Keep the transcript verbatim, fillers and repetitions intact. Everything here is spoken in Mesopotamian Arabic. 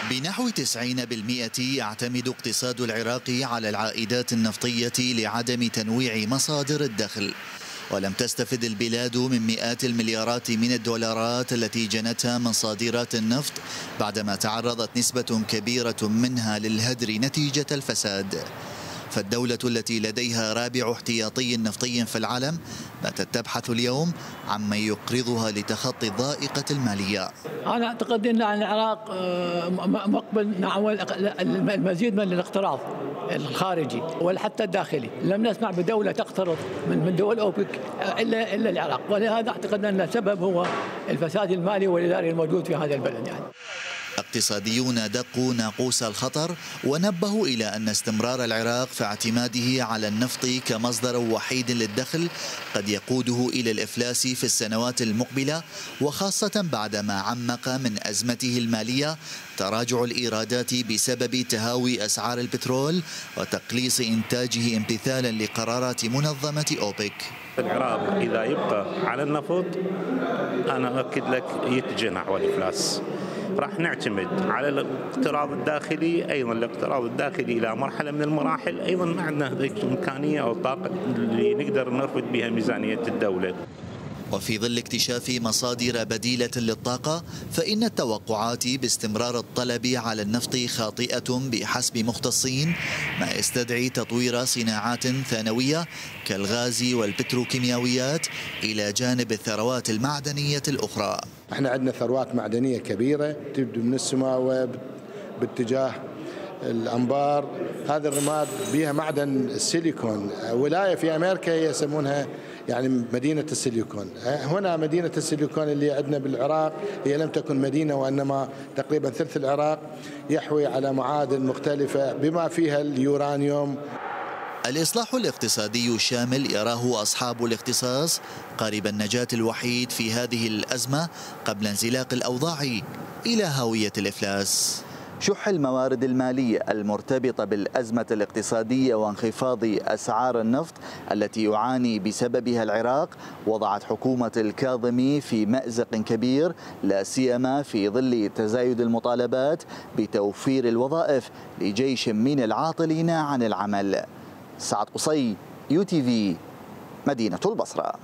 بنحو تسعين بالمئة يعتمد اقتصاد العراق على العائدات النفطية لعدم تنويع مصادر الدخل، ولم تستفد البلاد من مئات المليارات من الدولارات التي جنتها من صادرات النفط بعدما تعرضت نسبة كبيرة منها للهدر نتيجة الفساد. فالدولة التي لديها رابع احتياطي نفطي في العالم باتت تبحث اليوم عمن يقرضها لتخطي الضائقة المالية. أنا أعتقد أن العراق مقبل نحو المزيد من الاقتراض الخارجي وحتى الداخلي. لم نسمع بدولة تقترض من دول أوبك إلا إلا العراق، ولهذا أعتقد أن السبب هو الفساد المالي والإداري الموجود في هذا البلد. يعني اقتصاديون دقوا ناقوس الخطر ونبهوا إلى أن استمرار العراق في اعتماده على النفط كمصدر وحيد للدخل قد يقوده إلى الإفلاس في السنوات المقبلة، وخاصة بعدما عمق من أزمته المالية تراجع الإيرادات بسبب تهاوي أسعار البترول وتقليص إنتاجه امتثالا لقرارات منظمة أوبك. العراق إذا يبقى على النفط أنا أؤكد لك يتجه نحو الإفلاس. راح نعتمد على الاقتراض الداخلي، أيضا الاقتراض الداخلي إلى مرحلة من المراحل أيضا ما عندنا ذيك الإمكانية أو الطاقة اللي نقدر نرفد بها ميزانية الدولة. وفي ظل اكتشاف مصادر بديلة للطاقة فإن التوقعات باستمرار الطلب على النفط خاطئة بحسب مختصين، ما يستدعي تطوير صناعات ثانوية كالغاز والبتروكيماويات إلى جانب الثروات المعدنية الأخرى. احنا عندنا ثروات معدنية كبيرة تبدو من السماوة باتجاه الأنبار. هذا الرماد بها معدن السيليكون، ولاية في أمريكا يسمونها يعني مدينة السيليكون. هنا مدينة السيليكون اللي عندنا بالعراق هي لم تكن مدينة، وإنما تقريبا ثلث العراق يحوي على معادن مختلفة بما فيها اليورانيوم. الإصلاح الاقتصادي الشامل يراه أصحاب الاختصاص قارب النجاة الوحيد في هذه الأزمة قبل انزلاق الأوضاع إلى هاوية الإفلاس. شح الموارد المالية المرتبطة بالأزمة الاقتصادية وانخفاض أسعار النفط التي يعاني بسببها العراق وضعت حكومة الكاظمي في مأزق كبير، لا سيما في ظل تزايد المطالبات بتوفير الوظائف لجيش من العاطلين عن العمل. سعد قصي، يو تي في، مدينة البصرة.